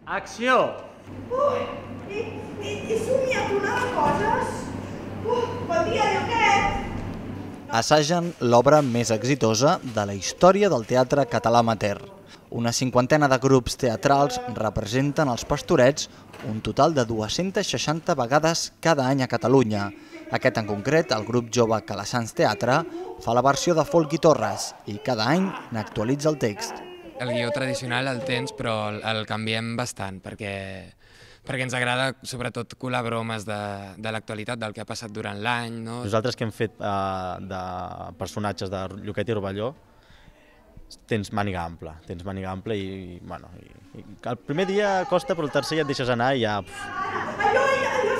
Acció! He somiat una de coses. Bon dia, Lloquet! Assagen l'obra més exitosa de la història del teatre català amateur. Una cinquantena de grups teatrals representen els Pastorets un total de 260 vegades cada any a Catalunya. Aquest en concret, el grup jove Calassans Teatre, fa la versió de Folk i Torres i cada any n'actualitza el text. El guió tradicional el tens, però el canviem bastant, perquè ens agrada sobretot colar bromes de l'actualitat, del que ha passat durant l'any. Nosaltres que hem fet de personatges de Lloquet i Rovelló, tens màniga ampla i el primer dia costa, però el tercer ja et deixes anar i ja... Allò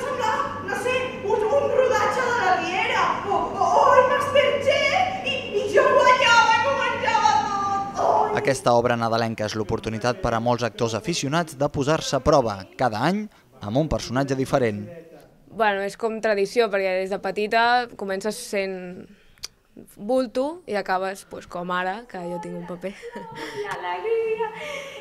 sembla, no sé, un rodatge de la Riera, o el Masterchef, i jo guanyava i m'ho menjava tot. Aquesta obra nadalenca és l'oportunitat per a molts actors aficionats de posar-se a prova cada any amb un personatge diferent. Bueno, és com tradició, perquè des de petita comences sent bulto i acabes com ara, que jo tinc un paper. L'alegria,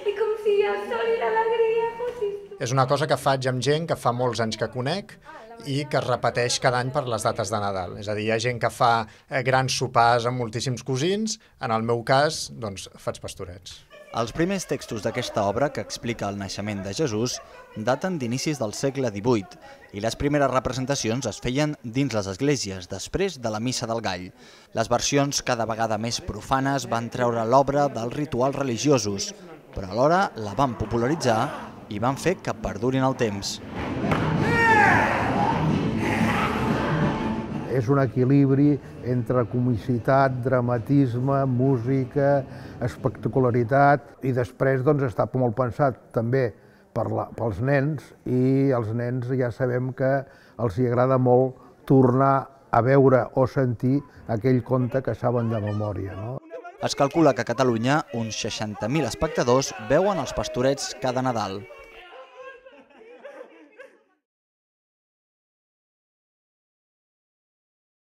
i com si el sol i l'alegria fossis tu. És una cosa que faig amb gent que fa molts anys que conec i que es repeteix cada any per les dates de Nadal. És a dir, hi ha gent que fa grans sopars amb moltíssims cosins, en el meu cas, doncs, faig pastorets. Els primers textos d'aquesta obra, que explica el naixement de Jesús, daten d'inicis del segle XVIII i les primeres representacions es feien dins les esglésies, després de la Missa del Gall. Les versions cada vegada més profanes van treure l'obra dels rituals religiosos, però alhora la van popularitzar i van fer que perdurin el temps. És un equilibri entre comicitat, dramatisme, música, espectacularitat i després està molt pensat també pels nens i els nens ja sabem que els agrada molt tornar a veure o sentir aquell conte que saben de memòria. Es calcula que a Catalunya uns 60.000 espectadors veuen els Pastorets cada Nadal.